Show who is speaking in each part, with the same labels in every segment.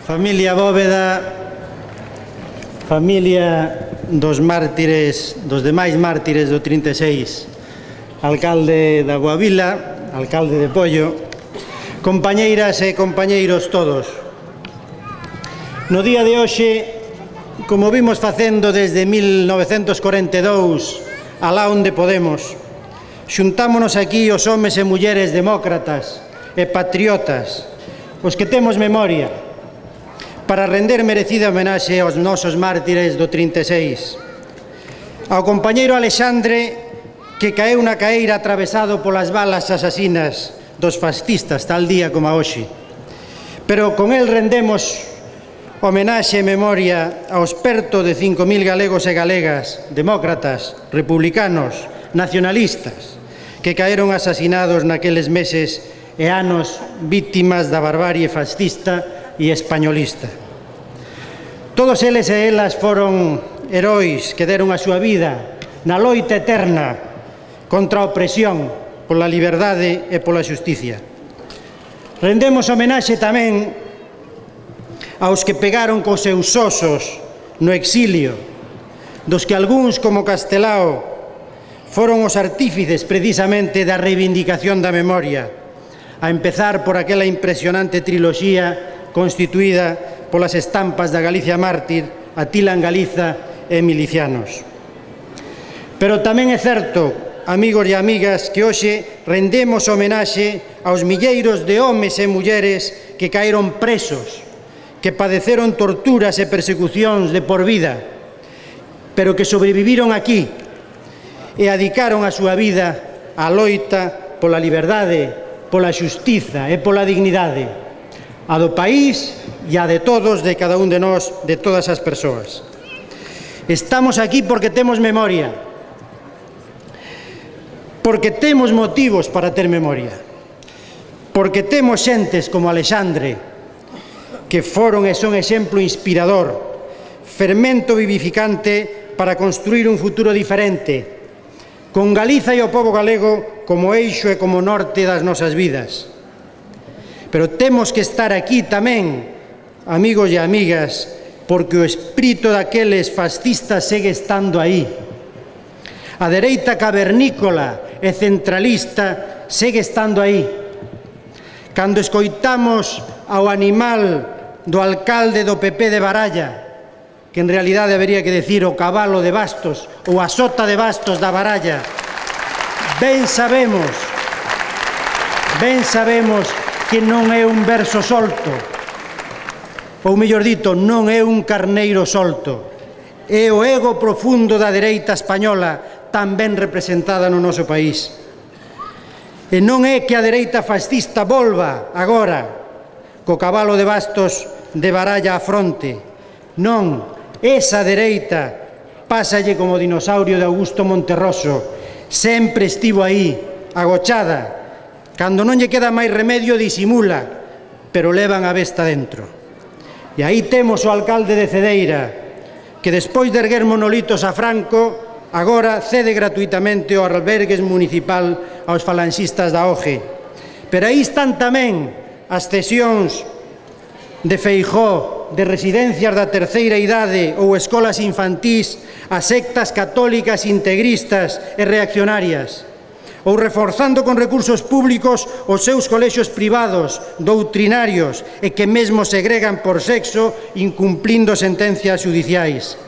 Speaker 1: Familia Bóveda, familia dos mártires, dos demais mártires do 36, alcalde da Guavila, alcalde de Pollo, compañeiras e compañeiros todos. No día de hoxe, como vimos facendo desde 1942, alá onde podemos, xuntámonos aquí os homes e mulleres demócratas e patriotas, os que temos memoria, para render merecida homenaxe aos nosos mártires do 36. Ao compañeiro Alexandre, que caeu na caeira atravesado polas balas asasinas dos fascistas tal día como a hoxe. Pero con el rendemos homenaxe e memoria aos perto de 5.000 galegos e galegas, demócratas, republicanos, nacionalistas, que caeron asasinados naqueles meses e anos víctimas da barbarie fascista e españolista. Todos eles e elas foron heróis que deron a súa vida na loita eterna contra a opresión, pola liberdade e pola xusticia. Rendemos homenaxe tamén aos que pegaron cos seus osos no exilio, dos que algúns, como Castelao, foron os artífices precisamente da reivindicación da memoria, a empezar por aquela impresionante triloxía constituída polas estampas da Galicia mártir, Atila en Galiza e Milicianos. Pero tamén é certo, amigos e amigas, que hoxe rendemos homenaxe aos milleiros de homes e mulleres que caeron presos, que padeceron torturas e persecucións de por vida, pero que sobreviviron aquí e adicaron a súa vida á loita pola liberdade, pola xustiza e pola dignidade, a do país e a de todos, de cada un de nós, de todas as persoas. Estamos aquí porque temos memoria, porque temos motivos para ter memoria, porque temos xentes como Alexandre, que foron e son exemplo inspirador, fermento vivificante para construir un futuro diferente, con Galiza e o pobo galego como eixo e como norte das nosas vidas. Pero temos que estar aquí tamén, amigos e amigas, porque o espírito daqueles fascistas segue estando aí. A dereita cavernícola e centralista segue estando aí. Cando escoitamos ao animal do alcalde do PP de Baralla, que en realidade habería que decir o cabalo de bastos ou a sota de bastos da Baralla, ben sabemos que non é un verso solto, ou mellor dito, non é un carneiro solto, é o ego profundo da dereita española tan ben representada no noso país. E non é que a dereita fascista volva agora co cabalo de bastos de Baralla á fronte, non, esa dereita pásalle como dinosaurio de Augusto Monterroso, sempre estivo aí, agochada, cando non lle queda máis remedio disimula, pero levan a besta dentro. E aí temos o alcalde de Cedeira, que despois de erguer monolitos a Franco, agora cede gratuitamente o albergue municipal aos falanxistas da OGE. Pero aí están tamén as cesións de Feijóo de residencias da terceira idade ou escolas infantís a sectas católicas integristas e reaccionarias, ou reforzando con recursos públicos os seus colexios privados, doutrinarios e que mesmo segregan por sexo incumplindo sentencias judiciais,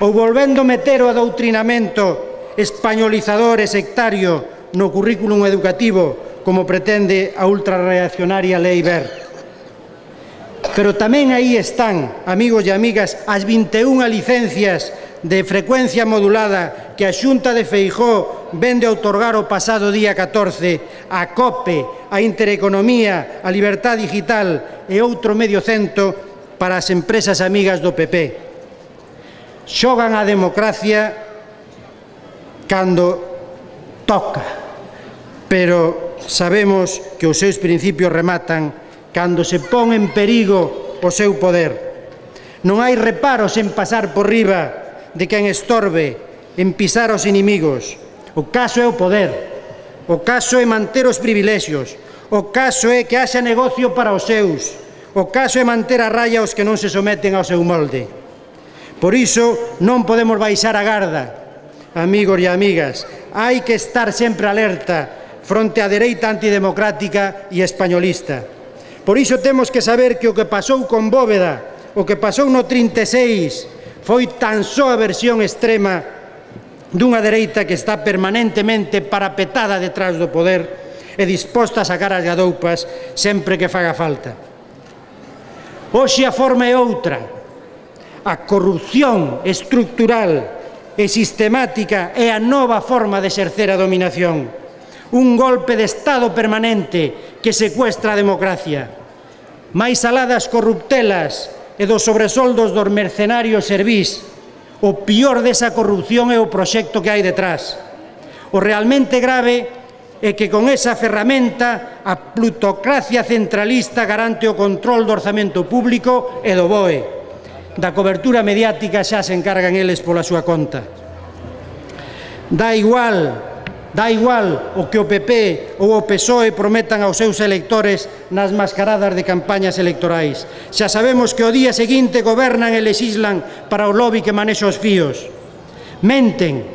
Speaker 1: ou volvendo meter o adoutrinamento españolizador e sectario no currículum educativo como pretende a ultrarreaccionaria Lei Wert. Pero tamén aí están, amigos e amigas, as 21 licencias de frecuencia modulada que a Xunta de Feijóo vende a outorgar o pasado día 14 a COPE, a Intereconomía, a Libertad Digital e outro medio cento para as empresas amigas do PP. Xogan a democracia cando toca, pero sabemos que os seus principios rematan cando se pon en perigo o seu poder. Non hai reparos en pasar por riba de quen estorbe, en pisar os inimigos. O caso é o poder, o caso é manter os privilexios, o caso é que haxa negocio para os seus, O caso é manter a raya os que non se someten ao seu molde. Por iso non podemos baixar a garda, amigos e amigas. Hai que estar sempre alerta fronte á dereita antidemocrática e españolista. Por iso temos que saber que o que pasou con Bóveda, o que pasou no 36, foi tan só a versión extrema dunha dereita que está permanentemente parapetada detrás do poder e disposta a sacar as gadoupas sempre que faga falta. Hoxe a forma é outra. A corrupción estructural e sistemática é a nova forma de exercer a dominación. Un golpe de Estado permanente que secuestra a democracia. Mais alá das corruptelas e dos sobresoldos dos mercenarios servís, o pior desa corrupción é o proxecto que hai detrás. O realmente grave é que con esa ferramenta a plutocracia centralista garante o control do orzamento público e do BOE. Da cobertura mediática xa se encargan eles pola súa conta. Dá igual o que o PP ou o PSOE prometan aos seus electores nas mascaradas de campañas electorais. Xa sabemos que o día seguinte gobernan e lexislan para o lobby que manexa os fíos. Menten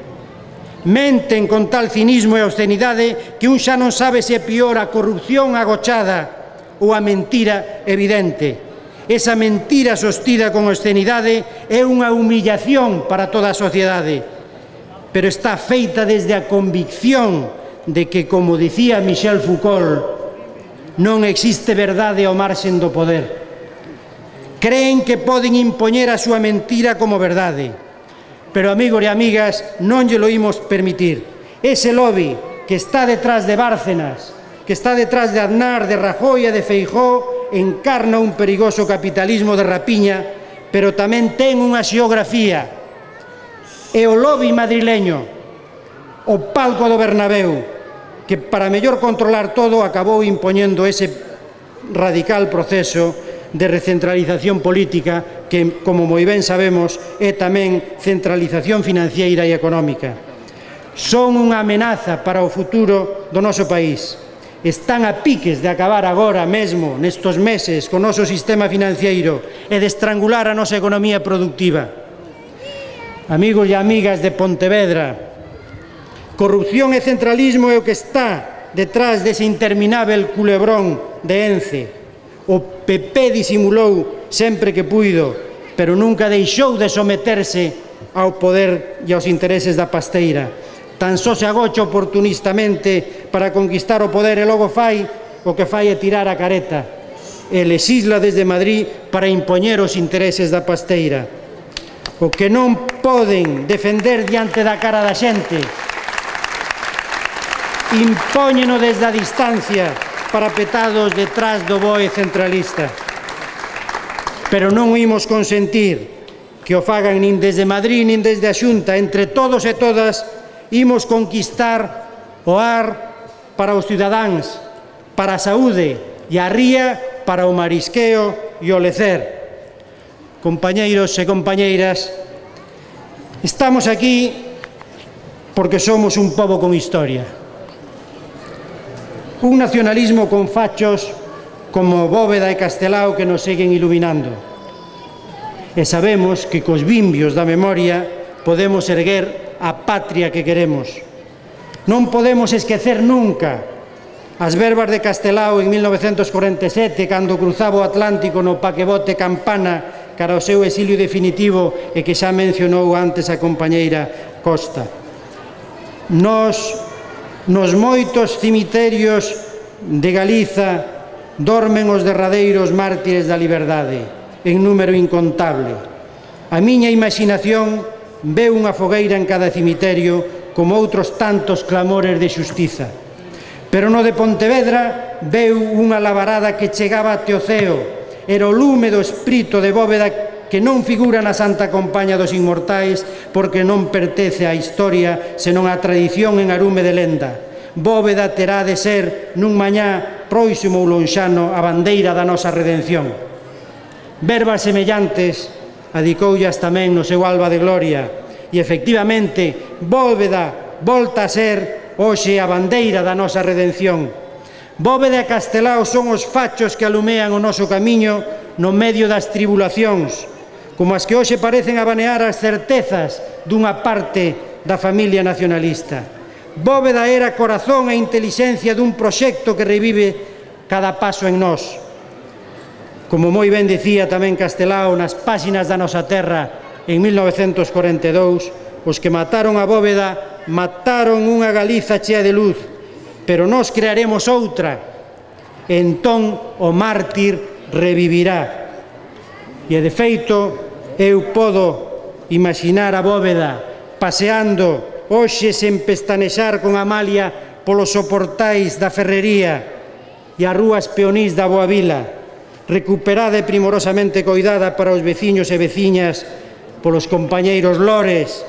Speaker 1: con tal cinismo e obscenidade que un xa non sabe se é pior a corrupción agochada ou a mentira evidente. Esa mentira sostida con obscenidade é unha humillación para toda a sociedade, pero está feita desde a convicción de que, como dicía Michel Foucault, non existe verdade ao marxen do poder. Creen que poden impoñer a súa mentira como verdade, pero, amigos e amigas, non lle lo imos permitir. Ese lobby que está detrás de Bárcenas, que está detrás de Aznar, de Rajoy e de Feijóo, encarna un perigoso capitalismo de rapiña, pero tamén ten unha xeografía. E o lobby madrileño, o palco do Bernabéu, que para mellor controlar todo acabou impoñendo ese radical proceso de recentralización política que, como moi ben sabemos, é tamén centralización financiera e económica. Son unha amenaza para o futuro do noso país. Están a piques de acabar agora mesmo, nestos meses, co noso sistema financiero e de estrangular a nosa economía productiva. Amigos e amigas de Pontevedra, corrupción e centralismo é o que está detrás dese interminável culebrón de Ence. O PP disimulou sempre que puido, pero nunca deixou de someterse ao poder e aos intereses da pasteira. Tan só se agocha oportunistamente para conquistar o poder e logo fai o que fai é tirar a careta e lexisla desde Madrid para impoñer os intereses da pasteira. O que non poden defender diante da cara da xente, impóñeno desde a distancia parapetados detrás do BOE centralista. Pero non imos consentir que o fagan nin desde Madrid nin desde a Xunta. Entre todos e todas imos conquistar o ar para os cidadáns, para a saúde e a ría para o marisqueo e o lecer. Compañeiros e compañeiras, estamos aquí porque somos un pobo con historia. Un nacionalismo con fachos como Bóveda e Castelao que nos seguen iluminando. E sabemos que cos vimbios da memoria podemos erguer a patria que queremos. Non podemos esquecer nunca as verbas de Castelao en 1947, cando cruzaba o Atlántico no paquebote Campana cara ao seu exilio definitivo e que xa mencionou antes a compañeira Costa. Nos moitos cemiterios de Galiza dormen os derradeiros mártires da liberdade, en número incontable. A miña imaginación veu unha fogueira en cada cemiterio como outros tantos clamores de xustiza. Pero no de Pontevedra veu unha labarada que chegaba até o ceo. Era o lume do espírito de Bóveda que non figura na Santa Compaña dos Inmortais porque non pertence á historia senón á tradición en arume de lenda. Bóveda terá de ser nun mañá próximo ou lonxano a bandeira da nosa redención. Verbas semellantes adicoullas tamén no seu alba de gloria e, efectivamente, Bóveda volta a ser hoxe a bandeira da nosa redención. Bóveda e Castelao son os fachos que alumean o noso camiño no medio das tribulacións, como as que hoxe parecen abanear as certezas dunha parte da familia nacionalista. Bóveda era corazón e intelixencia dun proxecto que revive cada paso en nós. Como moi ben dicía tamén Castelao nas páxinas da nosa terra en 1942, os que mataron a Bóveda mataron unha Galiza chea de luz, pero nós crearemos outra, entón o mártir revivirá. E de feito, eu podo imaginar a Bóveda paseando hoxe sen pestanexar con Amalia polos soportais da Ferrería e as rúas peonís da Boavila, recuperada e primorosamente coidada para os veciños e veciñas polos compañeiros Lores,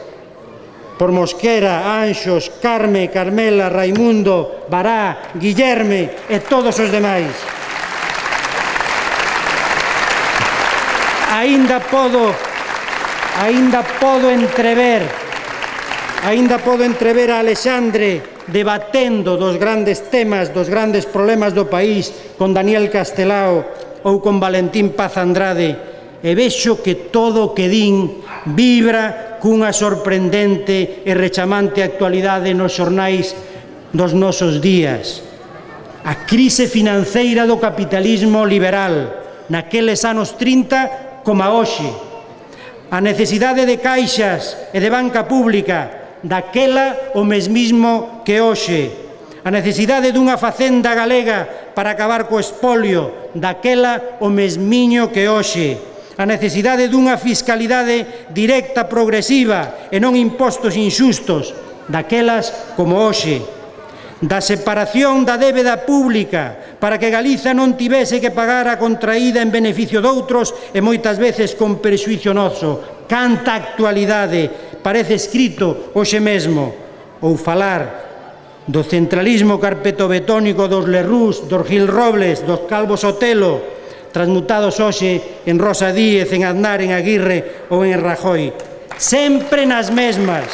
Speaker 1: por Mosquera, Anxos, Carme, Carmela, Raimundo, Bará, Guillerme e todos os demais. Aínda podo entrever a Alexandre debatendo dos grandes temas, dos grandes problemas do país con Daniel Castelao ou con Valentín Paz Andrade, e vexo que todo o que din vibra cunha sorprendente e rechamante actualidade nos xornais dos nosos días. A crise financeira do capitalismo liberal naqueles anos 30 como a hoxe. A necesidade de caixas e de banca pública daquela o mesmismo que hoxe. A necesidade dunha facenda galega para acabar co espolio daquela o mesmiño que hoxe. A necesidade dunha fiscalidade directa progresiva e non impostos inxustos, daquelas como hoxe. Da separación da débeda pública para que Galiza non tivese que pagar a contraída en beneficio doutros e moitas veces con prexuízo noso. Canta actualidade, parece escrito hoxe mesmo. Ou falar do centralismo carpetobetónico dos Lerrús, dos Gil Robles, dos Calvo Sotelo, transmutados hoxe en Rosa Díez, en Aznar, en Aguirre ou en Rajoy. Sempre nas mesmas,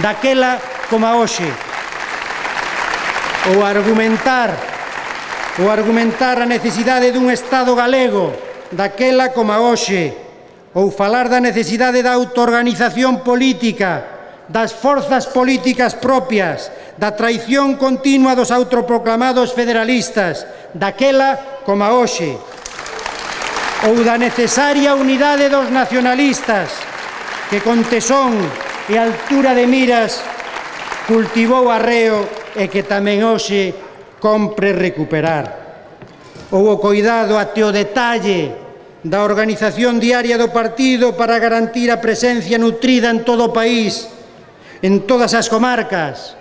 Speaker 1: daquela como a hoxe. Ou argumentar a necesidade dun Estado galego, daquela como a hoxe. Ou falar da necesidade da autoorganización política, das forzas políticas propias, da traición continua dos autoproclamados federalistas, daquela como a hoxe. Ou da necesaria unidade dos nacionalistas, que con tesón e altura de miras cultivou arreo e que tamén hoxe compre recuperar. Ou o coidado até o detalle da organización diaria do partido para garantir a presencia nutrida en todo o país, en todas as comarcas,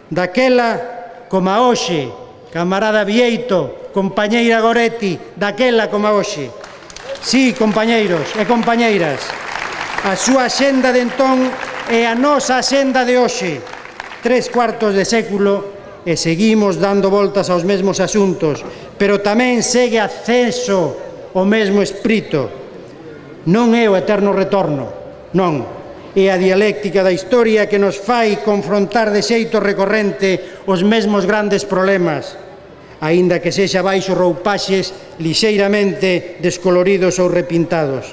Speaker 1: daquela como a hoxe. Camarada Vieito, compañeira Goretti, daquela como a hoxe. Sí, compañeiros e compañeiras, a súa axenda de entón é a nosa axenda de hoxe. 3/4 de século e seguimos dando voltas aos mesmos asuntos, pero tamén segue acceso o mesmo espírito. Non é o eterno retorno, non. É a dialéctica da historia que nos fai confrontar de xeito recorrente os mesmos grandes problemas, aínda que sexa baixo roupaxes lixeiramente descoloridos ou repintados.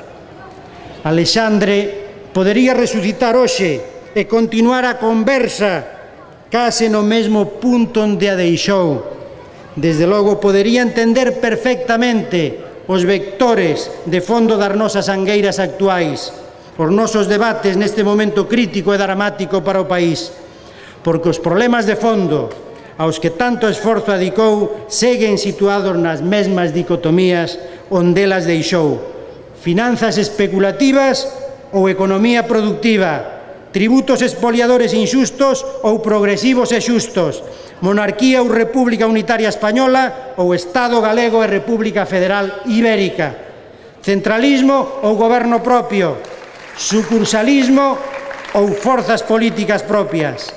Speaker 1: Alexandre podería resucitar hoxe e continuar a conversa case no mesmo punto onde a deixou. Desde logo podería entender perfectamente os vectores de fondo das nosas angueiras actuais, os nosos debates neste momento crítico e dramático para o país, porque os problemas de fondo aos que tanto esforzo adicou seguen situados nas mesmas dicotomías onde elas deixou: finanzas especulativas ou economía productiva, tributos expoliadores inxustos ou progresivos e xustos, monarquía ou república unitaria española ou Estado galego e República Federal Ibérica, centralismo ou goberno propio, sucursalismo ou forzas políticas propias.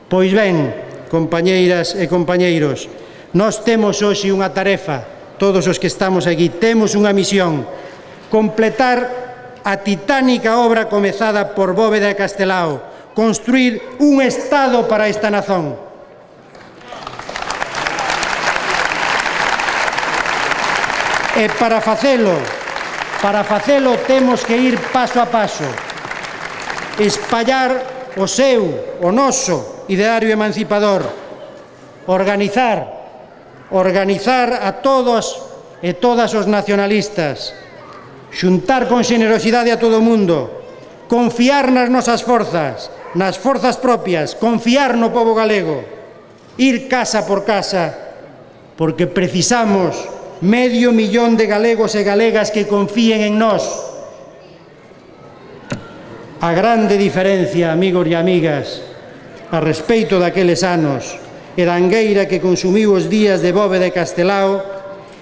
Speaker 1: Pois ben, compañeiras e compañeiros, nós temos hoxe unha tarefa, todos os que estamos aquí, temos unha misión: completar a titánica obra comezada por Bóveda e Castelao, construir un Estado para esta nazón. E para facelo temos que ir paso a paso, espallar o seu, o noso ideario emancipador, organizar a todos e todas os nacionalistas, xuntar con xenerosidade a todo o mundo, confiar nas nosas forzas, nas forzas propias, confiar no pobo galego, ir casa por casa, porque precisamos 500.000 de galegos e galegas que confíen en nós. A grande diferencia, amigos e amigas, a respeito daqueles anos e da angueira que consumiu os días de Bóveda e Castelao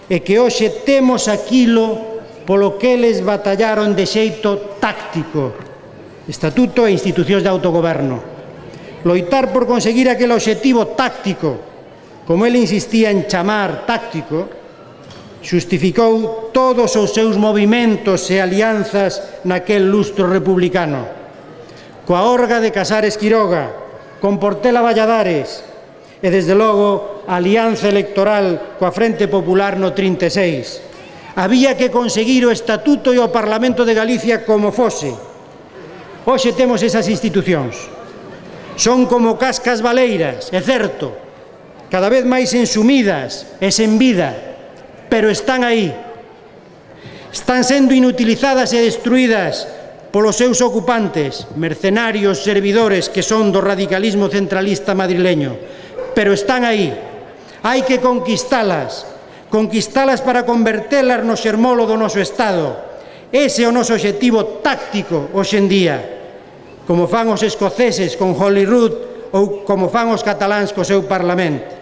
Speaker 1: é que hoxe temos aquilo polo que eles batallaron de xeito táctico: estatuto e institucións de autogoberno. Loitar por conseguir aquel obxectivo táctico, como ele insistía en chamar táctico, xustificou todos os seus movimentos e alianzas naquel lustro republicano, coa Orga de Casares Quiroga, con Portela Valladares e, desde logo, a alianza electoral coa Frente Popular no 36. Había que conseguir o Estatuto e o Parlamento de Galicia como fose. Hoxe temos esas institucións. Son como cascas baleiras, é certo, cada vez máis ensumidas e sen vida, pero están aí. Están sendo inutilizadas e destruídas polos seus ocupantes, mercenarios servidores que son do radicalismo centralista madrileño, pero están aí. Hai que conquistalas para convertelas no xermolo do noso Estado. Ese é o noso obxectivo táctico hoxe en día, como fan os escoceses con Holyrood ou como fan os cataláns co seu Parlamento.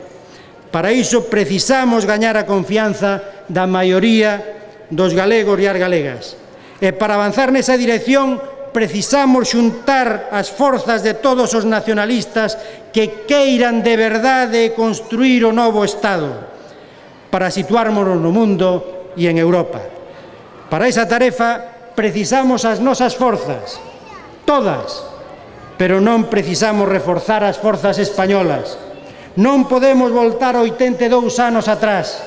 Speaker 1: Para iso precisamos gañar a confianza da maioría dos galegos e as galegas. E para avanzar nesa dirección precisamos xuntar as forzas de todos os nacionalistas que queiran de verdade construir o novo Estado para situármonos no mundo e en Europa. Para esa tarefa precisamos as nosas forzas, todas, pero non precisamos reforzar as forzas españolas. Non podemos voltar 82 anos atrás.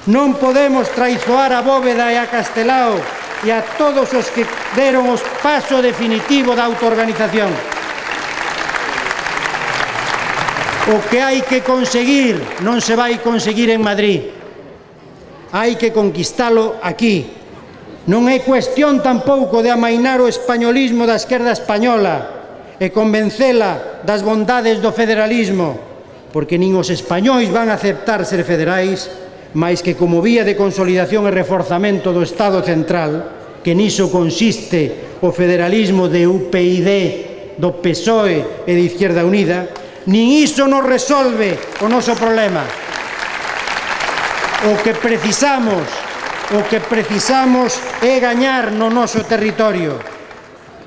Speaker 1: Non podemos traizoar a Bóveda e a Castelao e a todos os que deron o paso definitivo da autoorganización. O que hai que conseguir non se vai conseguir en Madrid. Hai que conquistalo aquí. Non é cuestión tampouco de amainar o españolismo da esquerda española e convencela das bondades do federalismo, porque nin os españois van a aceptar ser federais, máis que como vía de consolidación e reforzamento do Estado central, que niso consiste o federalismo de UPyD, do PSOE e de Izquierda Unida, nin iso nos resolve o noso problema. O que precisamos é gañar no noso territorio.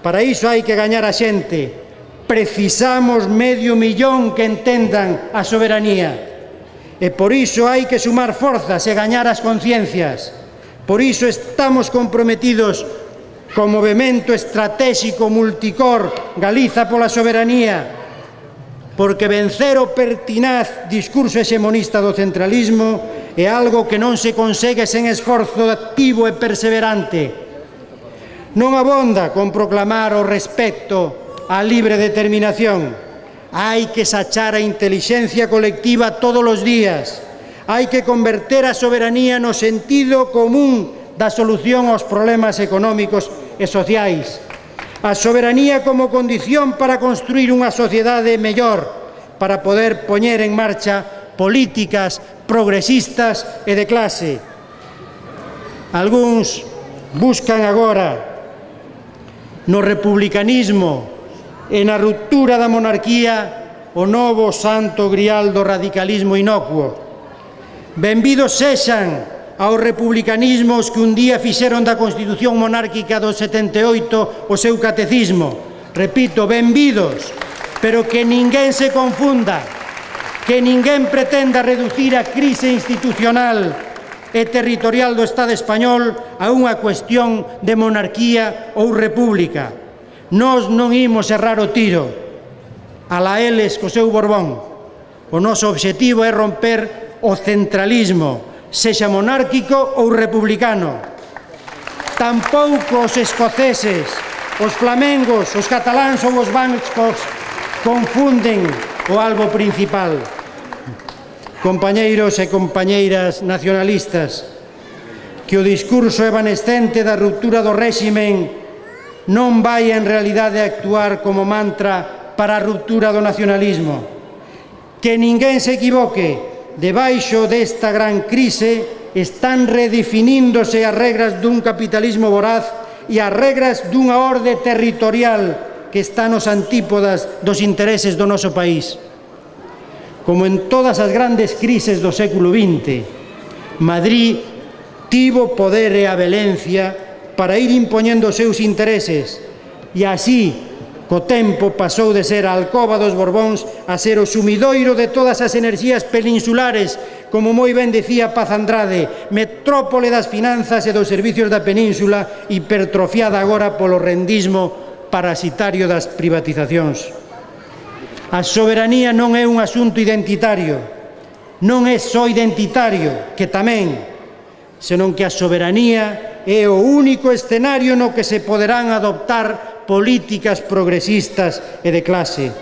Speaker 1: Para iso hai que gañar a xente. Precisamos 500.000 que entendan a soberanía. E por iso hai que sumar forzas e gañar as conciencias. Por iso estamos comprometidos co movemento estratégico multicor Galiza pola soberanía, porque vencer o pertinaz discurso hexemonista do centralismo é algo que non se consegue sen esforzo activo e perseverante. Non abonda con proclamar o respecto a libre determinación. Hai que sachar a intelixencia colectiva todos os días. Hai que converter a soberanía no sentido común da solución aos problemas económicos e sociais. A soberanía como condición para construir unha sociedade mellor, para poder poñer en marcha políticas progresistas e de clase. Algúns buscan agora no republicanismo e na ruptura da monarquía o novo santo grial do radicalismo inocuo. Benvidos sexan aos republicanismos que un día fixeron da Constitución monárquica do 78 o seu catecismo. Repito, benvidos, pero que ninguén se confunda, que ninguén pretenda reducir a crise institucional e territorial do Estado español a unha cuestión de monarquía ou república. Nós non imos errar o tiro, alá eles co seu Borbón. O noso obxectivo é romper o centralismo, sexa monárquico ou republicano. Tampouco os escoceses, os flamengos, os cataláns ou os vascos confunden o albo principal. Compañeiros e compañeiras nacionalistas, que o discurso evanescente da ruptura do réximen non vai en realidade actuar como mantra para a ruptura do nacionalismo. Que ninguén se equivoque, debaixo desta gran crise están redefiníndose as regras dun capitalismo voraz e as regras dunha orde territorial que está nos antípodas dos intereses do noso país. Como en todas as grandes crises do século XX, Madrid tivo poder e a velencia para ir impoñendo os seus intereses e así, co tempo, pasou de ser a alcoba dos Borbóns a ser o sumidoiro de todas as enerxías peninsulares, como moi ben decía Paz Andrade, metrópole das finanzas e dos servicios da península, hipertrofiada agora polo rendismo parasitario das privatizacións. A soberanía non é un asunto identitario, non é só identitario, que tamén, senón que a soberanía é o único escenario no que se poderán adoptar políticas progresistas e de clase.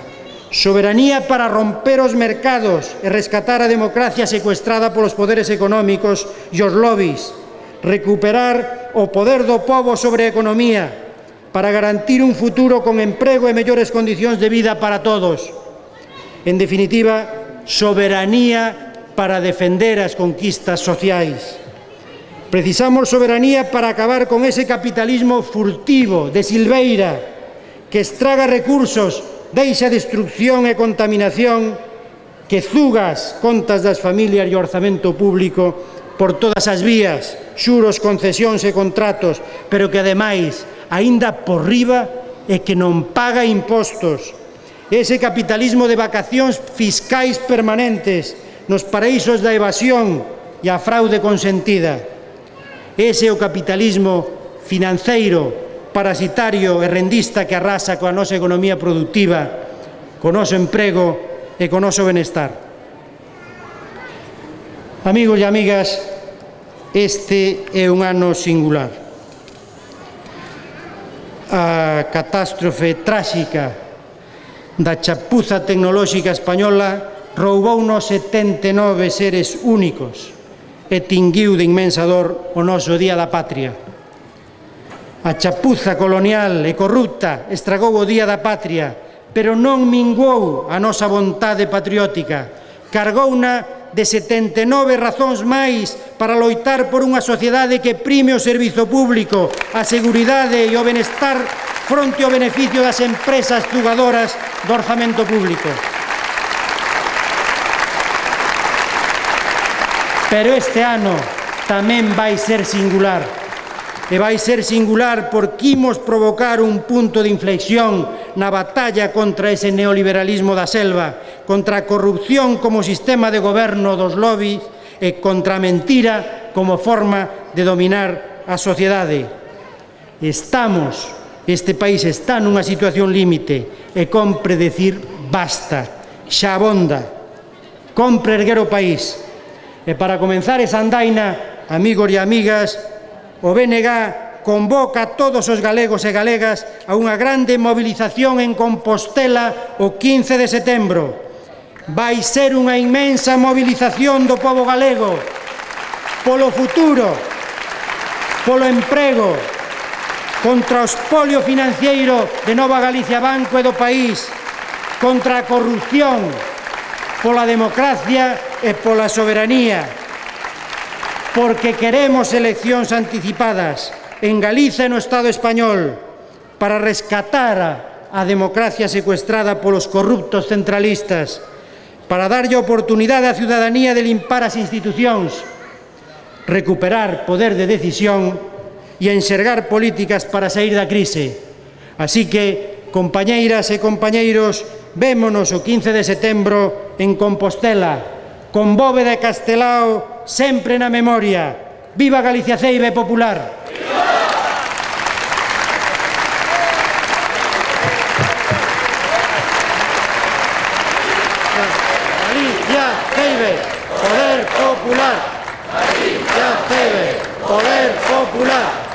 Speaker 1: Soberanía para romper os mercados e rescatar a democracia secuestrada polos poderes económicos e os lobbies, recuperar o poder do pobo sobre a economía, para garantir un futuro con emprego e mellores condicións de vida para todos. En definitiva, soberanía para defender as conquistas sociais. Precisamos soberanía para acabar con ese capitalismo furtivo, de silveira, que estraga recursos, deixa destrucción e contaminación, que zuga as contas das familias e o orzamento público por todas as vías, xuros, concesións e contratos, pero que ademais, aínda por riba, é que non paga impostos. Ese capitalismo de vacacións fiscais permanentes nos paraísos da evasión e a fraude consentida. Ese é o capitalismo financeiro, parasitario e rendista que arrasa coa nosa economía productiva, co noso emprego e co noso benestar. Amigos e amigas, este é un ano singular. A catástrofe tráxica da chapuza tecnolóxica española roubounos 79 seres únicos e tinguiu de inmensa dor o noso Día da Patria. A chapuza colonial e corrupta estragou o Día da Patria, pero non minguou a nosa vontade patriótica, cargouna de 79 razóns máis para loitar por unha sociedade que prime o servizo público, a seguridade e o benestar fronte ao beneficio das empresas zugadoras do orzamento público. Pero este ano tamén vai ser singular. E vai ser singular porque imos provocar un punto de inflexión na batalla contra ese neoliberalismo da selva, contra a corrupción como sistema de goberno dos lobbies e contra a mentira como forma de dominar a sociedade. Este país está nunha situación límite e compre decir basta, xa abonda, compre erguer o país. E para comenzar esa andaina, amigos e amigas, o BNG convoca a todos os galegos e galegas a unha grande movilización en Compostela o 15 de setembro. Vai ser unha inmensa movilización do pobo galego polo futuro, polo emprego, contra o espolio financiero de Nova Galicia Banco e do país, contra a corrupción, pola democracia e pola soberanía, porque queremos eleccións anticipadas en Galiza e no Estado español para rescatar a democracia secuestrada polos corruptos centralistas, para darlle a oportunidade á ciudadanía de limpar as institucións, recuperar poder de decisión e enxergar políticas para sair da crise. Así que, compañeiras e compañeiros, vémonos o 15 de setembro en Compostela, con Bóveda e Castelao sempre na memoria. Viva Galicia ceiba e popular! Galicia ceibe, poder popular! Poder popular.